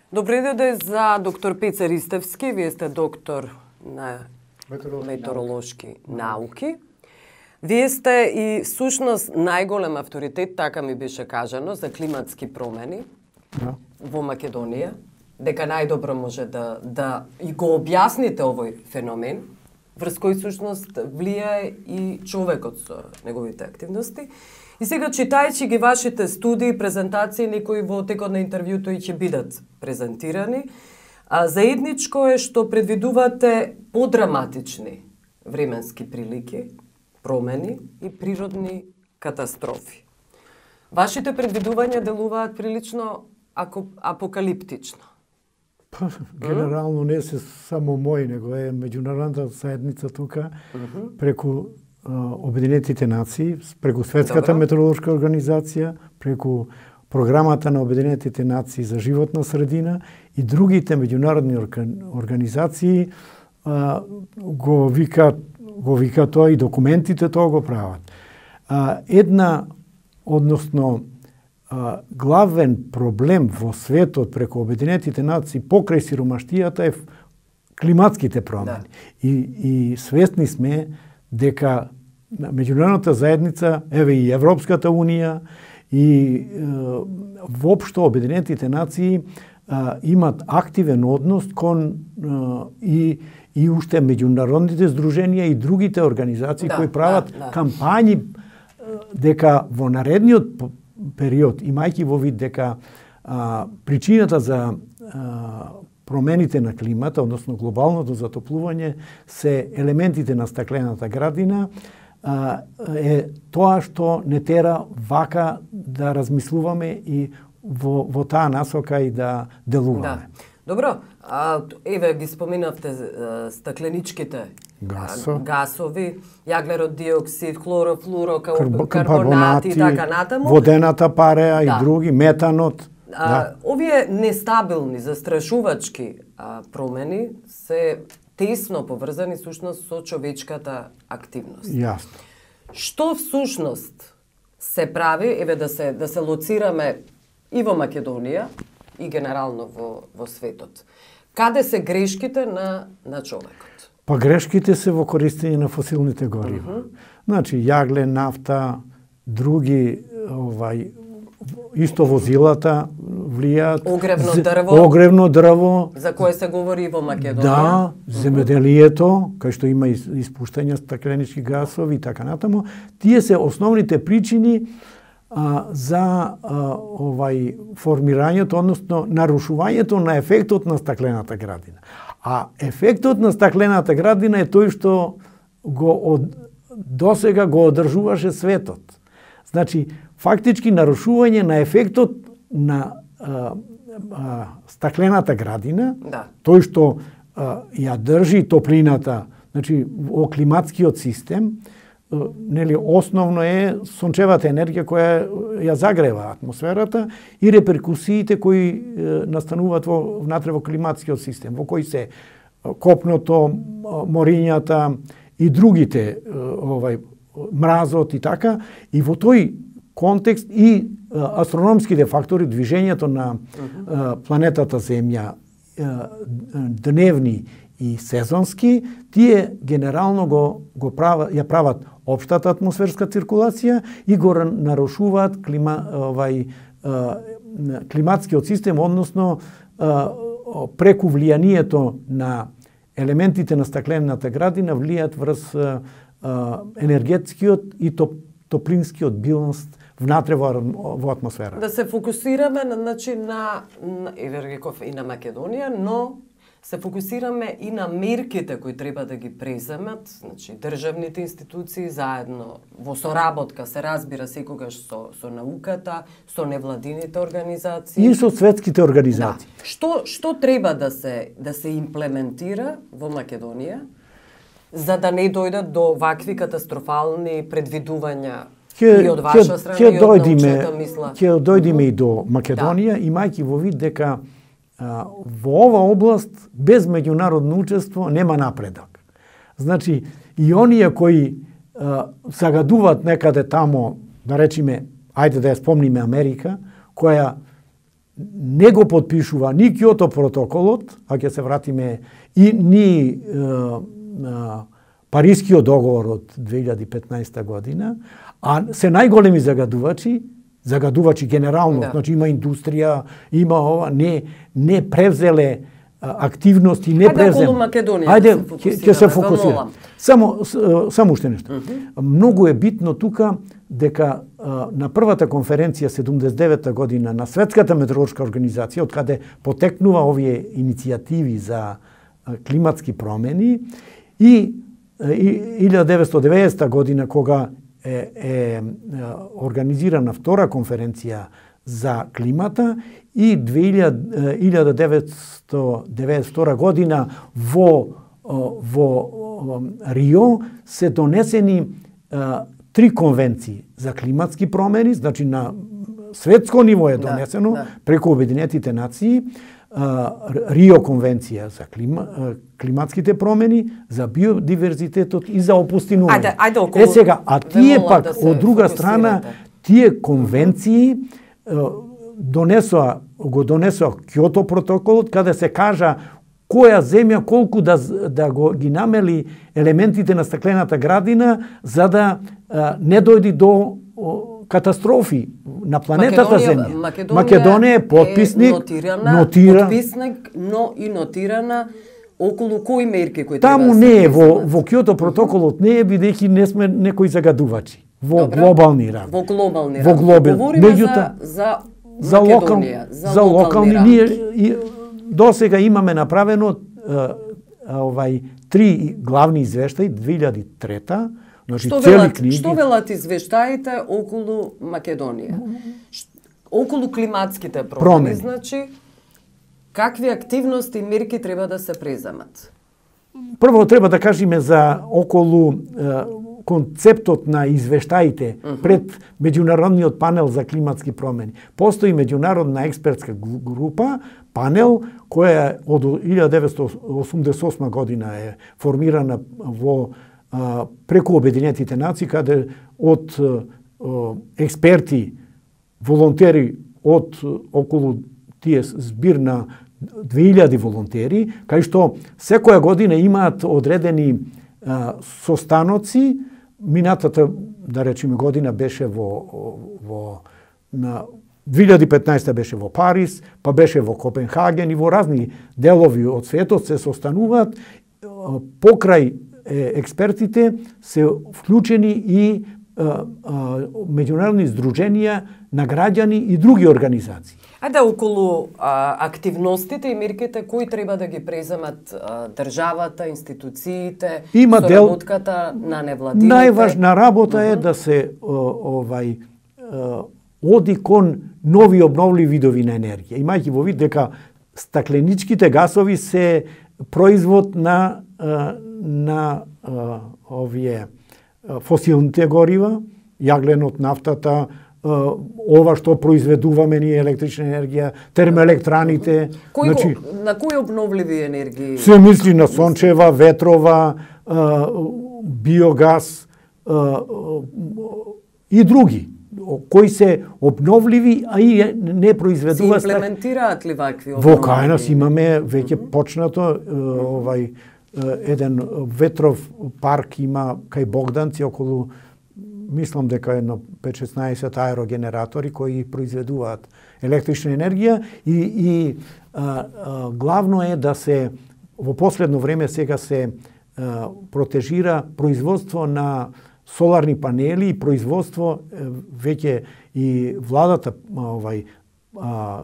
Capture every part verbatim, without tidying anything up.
Добри дојде за доктор Пеца Ристевски. Вие сте доктор на Метеоролошки, метеоролошки науки. Вие сте и всушност најголем авторитет, така ми беше кажано, за климатски промени Да. во Македонија, дека најдобро може да да и го објасните овој феномен, врз кој всушност влијае и човекот со неговите активности. И сега, читајќи ги вашите студии, презентации, некои во текот на интервјуто и ќе бидат презентирани, а заедничко е што предвидувате подраматични временски прилики, промени и природни катастрофи. Вашите предвидувања делуваат прилично апокалиптично. Па, генерално не се само мој, него е меѓународната заедница тука, преку Обединетите нации, преку Светската Добро. метеоролошка организација, преку Програмата на Обединетите нации за животна средина и другите меѓународни организации а, го вика го вика тоа и документите тоа го прават. А, една, односно, а, главен проблем во светот преку Обединетите нации покрај сиромаштијата е климатските промени. Да. И, и свесни сме дека меѓународната заедница, еве и Европската унија и е, воопшто Обединетите нации е, имат активен однос кон е, и и уште меѓународните здруженија и другите организации да, кои прават да, да. кампањи дека во наредниот период, имајќи во вид дека а, причината за а, промените на климата, односно глобалното затоплување, се елементите на стаклената градина, а, е тоа што не тера вака да размислуваме и во, во таа насока и да делуваме. Да. Добро, а, еве ги споминавте а, стакленичките Гасо. гасови, јаглерод диоксид, хлорофлуро, Карбонати, карбонати и така натаму. Водената пареа Да. и други, метанот. А, Да. Овие нестабилни, застрашувачки а, промени се тесно поврзани сушност со човечката активност. Јасно. Што всушност се прави, еве да се да се лоцираме и во Македонија и генерално во во светот. Каде се грешките на на човекот? Па грешките се во користење на фосилните горива. Uh -huh. Значи јагле, нафта, други овај исто возилата влијаат. Огревно дрво. Огревно дрво. За кое се говори и во Македонија. Да, земеделието, кај што има испуштање стакленички гасови и така натаму. Тие се основните причини а, за а, овај формирањето, односно нарушувањето на ефектот на стаклената градина. А ефектот на стаклената градина е тој што го од, досега го одржуваше светот. Значи, фактички нарушување на ефектот на а, а, стаклената градина, Да. тој што а, ја држи топлината, значи во климатскиот систем, а, нели основно е сончевата енергија која ја загрева атмосферата и реперкусиите кои е, настануваат во внатре во климатскиот систем, во кои се копното, морињата и другите овај мразот и така, и во тој контекст и астрономските фактори, движењето на uh-huh. планетата Земја, дневни и сезонски, тие генерално го го прават, ја прават општата атмосферска циркулација и го нарушуваат клима, овај климатскиот систем, односно преку влијанието на елементите на стаклената градина влијаат врз енергетскиот и топ, топлинскиот биланс внатре во, во атмосфера. Да се фокусираме на, значи, на, на еве реков и на Македонија, но се фокусираме и на мерките кои треба да ги преземат, значи државните институции заедно во соработка, се разбира секогаш со со науката, со невладините организации и со светските организации. Да. Што што треба да се да се имплементира во Македонија за да не дојдат до вакви катастрофални предвидувања и од ваша страна и од научната мисла? Ќе дојдеме и до Македонија, да. Имајќи во вид дека а, во ова област без меѓународно учество нема напредок. Значи, и оние кои а, загадуваат некаде тамо, да речеме, ајде да ја спомниме Америка, која не го подпишува ни Киото протоколот, а ќе се вратиме, и ни е, е, Парискиот договор од две илјади и петнаесета година, а се најголеми загадувачи, загадувачи генерално, да. Значи има индустрија, има ова, не не превзеле активности, не превзеле. Ајде околу Македонија. Ајде ќе се фокусираме. Само само уште нешто. Uh -huh. Многу е битно тука дека а, на првата конференција седумдесет и девета година на Светската метеоролошка организација, од каде потекнува овие иницијативи за а, климатски промени, и илјада деветстотини и деветдесета година кога е, е организирана втора конференција за климата, и илјада деветстотини и деветдесет и втора година во во Рио се донесени а, три конвенции за климатски промени, значи на светско ниво е донесено, да, да. Преку Обединетите нации, а, Рио конвенција за клима, а, климатските промени, за биодиверзитетот и за опустинување. Ајде, ајде околу. Е сега, а тие пак да од друга страна, тие конвенции а, донесоа, го донесоа Киото протоколот, каде се кажа која земја колку да да го ги намели елементите на стаклената градина, за да а, не дојди до о, катастрофи на планетата Македонија, Земја. Македонија, Македонија е потписник, е нотирана, нотира, потписник, но и нотирана околу кои мерки кои таму треба да не се е во во Киото протоколот не е, бидејќи не сме некои загадувачи во Добре. глобални рамки. Во глобални Во глобал. Говориме Меѓуто, за за за локал, за, за локални, рамки. ние и, до сега имаме направено а, овај три главни извештаи две илјади и трета, значи Што цели велат, книги. што велат извештаите околу Македонија? Околу климатските промени, Промени. значи какви активности и мерки треба да се преземат? Прво треба да кажеме за околу е, концептот на извештаите uh -huh. пред меѓународниот панел за климатски промени. Постои меѓународна експертска група, панел која од илјада деветстотини осумдесет и осма година е формирана во а, преку Обединетите нации, каде од а, експерти, волонтери од околу тие збир на две илјади волонтери, кај што секоја година имаат одредени а, состаноци. Минатата, да речеме, година беше во, во на две илјади и петнаесета беше во Париз, па беше во Копенхаген и во разни делови од светот се состануваат. Покрај е, експертите се вклучени и а, а, меѓународни здруженија на граѓани и други организации. Ајде околу а, активностите и мерките кои треба да ги преземат а, државата, институциите, Има со дел... работката на невладините. Најважна работа uh -huh. е да се о, овај о, оди кон нови обновливи видови на енергија. Имајќи во вид дека стакленичките гасови се производ на на овие фосилните горива, јагленот, нафтата, ова што произведуваме ние електрична енергија, термоелектраните. Кој, значи, на кои обновливи енергии? Се мисли на сончева, ветрова, биогаз и други, кои се обновливи, а и не произведуваат. Се имплементираат ли вакви обновливи? Во кај нас имаме веќе почнато овај еден ветров парк има кај Богданци околу, мислам дека едно пет-шеснаесет аерогенератори кои произведуваат електрична енергија и, и а, а, главно е да се во последно време сега се а, протежира производство на соларни панели и производство веќе и владата овај а,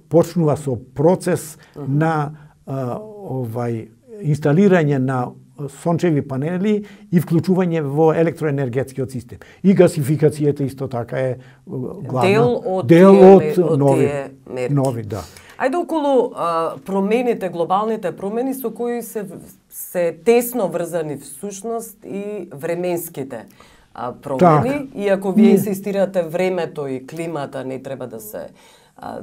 почнува со процес uh -huh. на а, овај инсталирање на сончеви панели и вклучување во електроенергетскиот систем. И гасификацијата исто така е главна дел од, дел тие, од, од нови, тие мерки. нови, да. Ајде околу а, промените, глобалните промени со кои се се тесно врзани всушност и временските а, промени, Так. иако вие инсистирате времето и климата не треба да се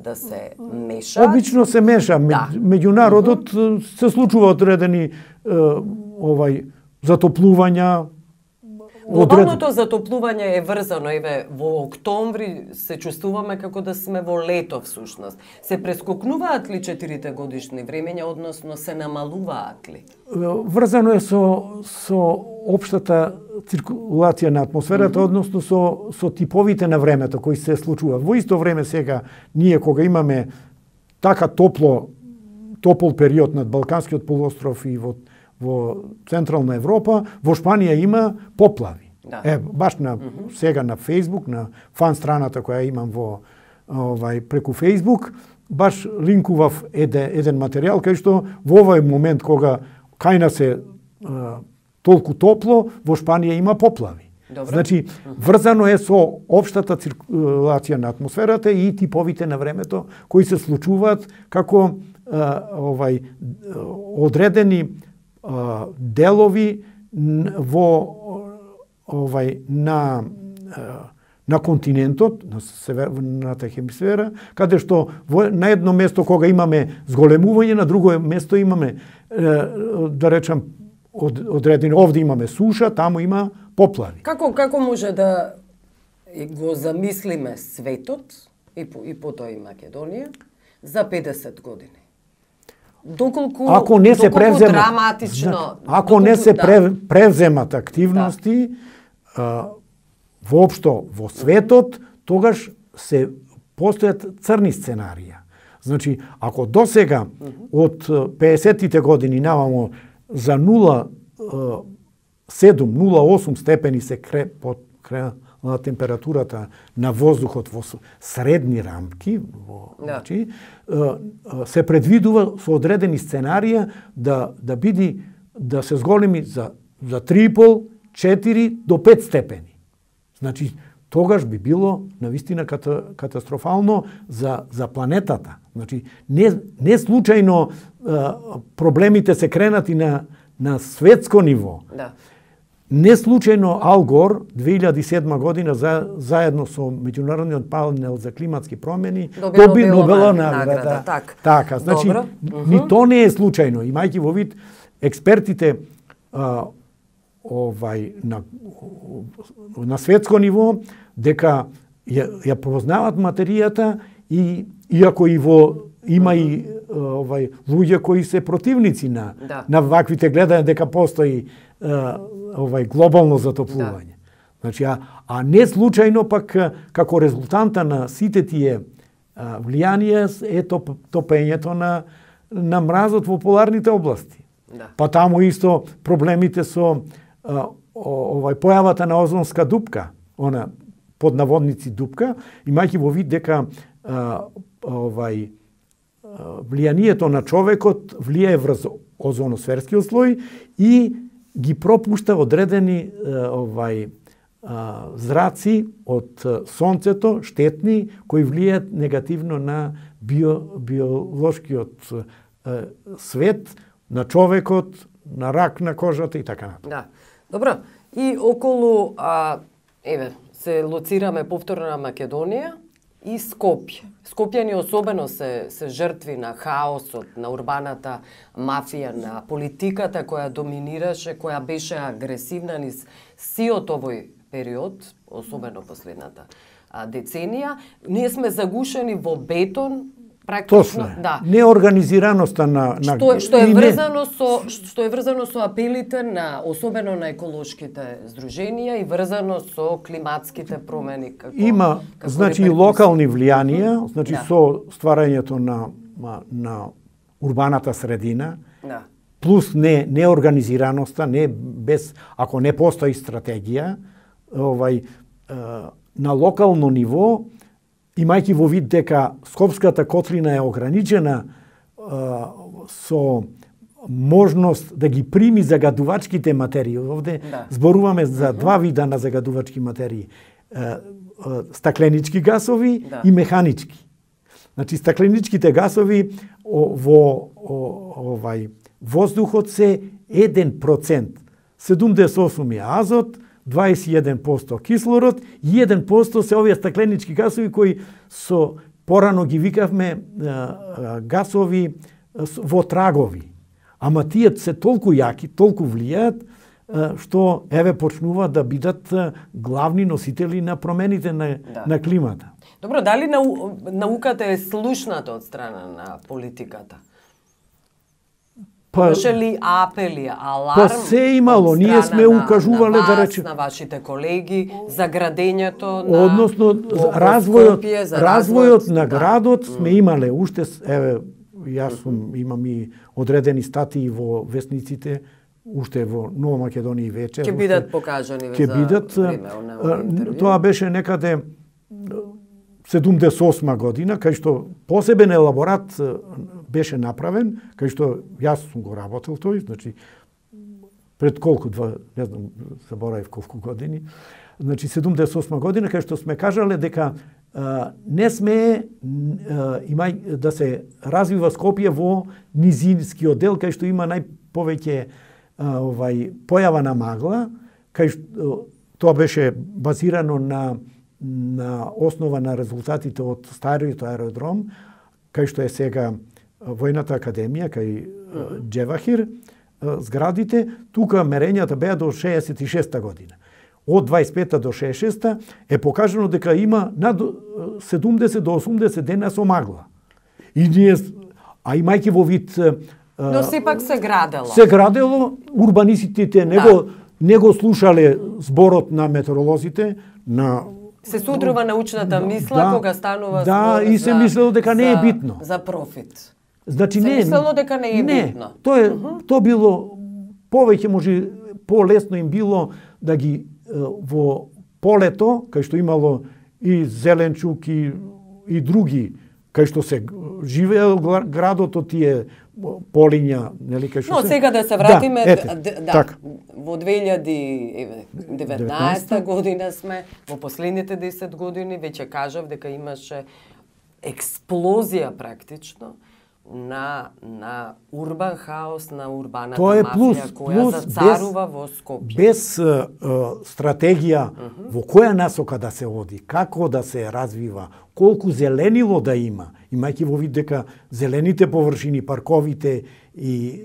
да се меша. Обично се меша. Да. Меѓународот uh -huh. се случува одредени е, овај затоплувања, Глобалното затоплување е врзано, еве, во октомври се чувствуваме како да сме во лето всушност. Се прескокнуваат ли четирите годишни времења, односно се намалуваат ли? Врзано е со со општата циркулација на атмосферата, mm -hmm. односно со со типовите на времето кои се случуваат. Во исто време сега ние кога имаме така топло топол период над Балканскиот полуостров и во во Централна Европа, во Шпанија има поплави. Да. Е, баш на, mm -hmm. сега на Фейсбук, на фан страната која имам во овај преку Фейсбук, баш линкував еден, еден материјал кај што во овој момент кога кај нас е а, толку топло, во Шпанија има поплави. Добро. Значи, врзано е со општата циркулација на атмосферата и типовите на времето кои се случуваат како а, овај одредени делови во овај на на континентот, на северната хемисфера, каде што во, на едно место кога имаме зголемување, на друго место имаме да речам од, одредени, овде имаме суша, таму има поплави. Како како може да го замислиме светот и по, и потоа и Македонија за педесет години? Доколку, ако не се превземат, драматично, ако доколку, не се да. превземат активности, да. а, воопшто во светот, тогаш се постојат црни сценарија. Значи, ако досега од педесетите години навамо за нула целу седум до нула целу осум степени се кре, под кре, на температурата на воздухот во средни рамки, во, да. значи, се предвидува со одредени сценарија да да биде да се зголеми за за три и пол, четири до пет степени. Значи, тогаш би било навистина ката, катастрофално за за планетата. Значи, не не случајно проблемите се кренати на на светско ниво. Да. Не случајно Ал Гор две илјади и седма година за, заедно со меѓународниот панел за климатски промени доби Нобелова награда. Так. Така, значи Добро. ни то не е случајно, имајќи во вид експертите а, овај на на светско ниво дека ја, ја познаваат материјата и иако и во има и овај луѓе кои се противници на да. на ваквите гледања дека постои овај глобално затоплување. Да. Значи, а, а не случајно пак како резултанта на сите тие а, влијанија е топ, топењето на на мразот во поларните области. Да. Па таму исто проблемите со а, овај појавата на озонска дупка, она под наводници дупка, имајќи во вид дека а, овај влијанието на човекот влијае врз озоносферскиот слој и ги пропушта одредени овај зраци од сонцето, штетни, кои влијаат негативно на био, биолошкиот свет, на човекот, на рак на кожата и така натаму. Да. Добро. И околу а, еве се лоцираме повторно на Македонија и Скопје. Скопјани особено се, се жртви на хаосот, на урбаната мафија, на политиката која доминираше, која беше агресивна низ сиот овој период, особено последната а, деценија. Ние сме загушени во бетон, практично, Точно. да. Неорганизираноста на на Што, што е и врзано со што е врзано со апелите на особено на еколошките здруженија и врзано со климатските промени како има како значи реперкусии. локални влијанија, значи Да. со стварањето на на урбаната средина, Да. плюс не неорганизираноста, не без ако не постои стратегија, овај на локално ниво, имајќи во вид дека Скопската котлина е ограничена а, со можност да ги прими загадувачките материи. Овде Да. зборуваме за два вида на загадувачки материи. А, а, стакленички гасови Да. и механички. Значи, стакленичките гасови о, во о, овај воздухот се еден процент. седумдесет и осум е азот, дваесет и еден проценти кислород и еден процент се овие стакленички гасови кои со порано ги викавме а, а, гасови а, во трагови. Ама тие се толку јаки, толку влијаат што еве почнува да бидат главни носители на промените на, да. на климата. Добро, дали нау, науката е слушната од страна на политиката? Па, Имаше ли апели, аларм? Па се имало, ние сме укажувале на вас, да рече на вашите колеги за градењето на односно развојот развојот на градот сме имале уште еве јас сум имам и одредени статии во весниците уште во Нова Македонија вече. Ќе бидат покажани ќе бидат, тоа беше некаде седумдесет и осма година, кај што посебен елаборат беше направен, кај што јас сум го работел тој, значи пред колку два, не знам, заборавив колку години. Значи седумдесет и осма година кај што сме кажале дека а, не сме а, имај да се развива Скопје во низинскиот дел кај што има најповеќе а, овај појава на магла, кај што тоа беше базирано на на основа на резултатите од стариот аеродром, кај што е сега Војната академија, кај Џевахир, зградите, тука мерењата беа до шеесет и шеста година. Од дваесет и пета до шеесет и шеста е покажано дека има над седумдесет до осумдесет дена со магла. И ние, а имајќи во вид... Но сепак се градело. Се градело, урбанистите не, да. го, не го слушале зборот на метеоролозите, на се судрува научната мисла да, кога станува да, збор и се мислело дека за, не е битно. За профит. Значи се не, мислело дека не е не, битно. Тоа е, uh -huh. тоа било повеќе може полесно им било да ги во полето, кај што имало и зеленчук и и други, кај што се живеел градот од тие полиња, нели кај што Но се... сега да се вратиме да, ете, да, да така. во две илјади и деветнаесета година сме, во последните десет години веќе кажав дека имаше експлозија практично на на урбан хаос, на урбаната Тоа е плюс, мафија која плюс зацарува без, во Скопје. Без uh, стратегија uh -huh. во која насока да се оди, како да се развива, колку зеленило да има, имајќи во вид дека зелените површини, парковите и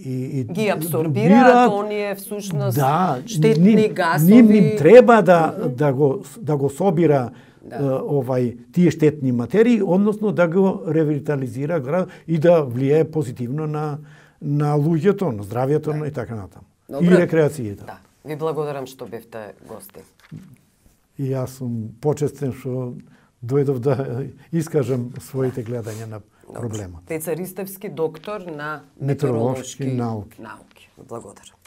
и, и ги абсорбираат оние всушност да, штетни ним, гасови. Ним, ним треба да uh -huh. да го да го собира да. овај тие штетни материи, односно да го ревитализира град и да влијае позитивно на на луѓето, на здравјето да. и така натаму. И рекреацијата. Да. Ви благодарам што бевте гости. И јас сум почестен што дојдов да искажам своите гледања на проблемот. Пеца Ристевски, доктор на метеоролошки метеоролошки науки. науки. Благодарам.